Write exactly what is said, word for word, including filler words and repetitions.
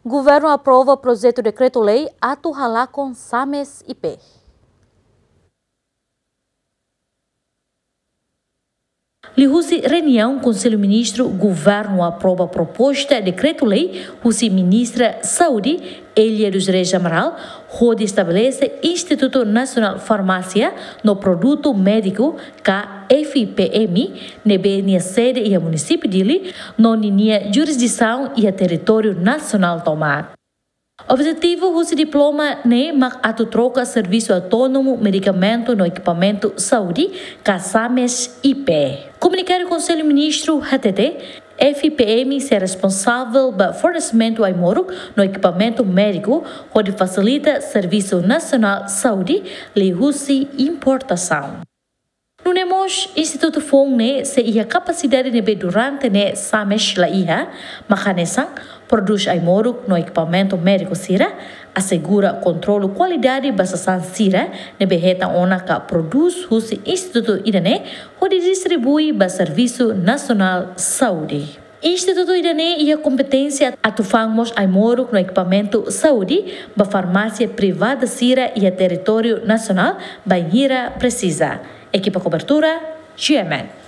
Governu aprova projetu dekretu-lei atu halakon SAMES I P. Liuhusi reuniaun Konsellu Ministru, Governu aprova proposta dekretu-lei husi Ministra Saúde, Elia dos Reis Amaral, hodi estabelese Institutu Nasionál Farmásia no Produtu Médiku, ka F I P M, ne'ebé nia sede iha Munisípiu Dili, no ninia jurisdisaun iha territóriu nasionál tomak. Objetivu husi diploma ne'e mak atu troka Servisu Autónomu Medikamentu no Ekipamentu Saúde, ka SAMES I P. Komunikadu Konsellu Ministru hatete, F I P M sei responsavel ba fornesimentu ai-moruk no ekipamentu médiku, hodi fasilita servisu nasionál saúde liuhusi importasaun. Nune'e mós, institutu foun ne'e sei iha kapasidade ne'ebé durante ne'e SAMES la iha, mak hanesan prodús ai-moruk no ekipamentu médiku sira, asegura kontrolu kualidade ba sasán sira ne'ebé hetan ona ka prodús husi institutu ida-ne'e, hodi distribui ba Servisu Nasionál Saúde. Institutu ida-ne'e iha kompeténsia atu fa'an mós ai-moruk no ekipamentu saúde ba farmásia privada sira iha territóriu nasionál bainhira presiza. Ekipa kobertura, G M N.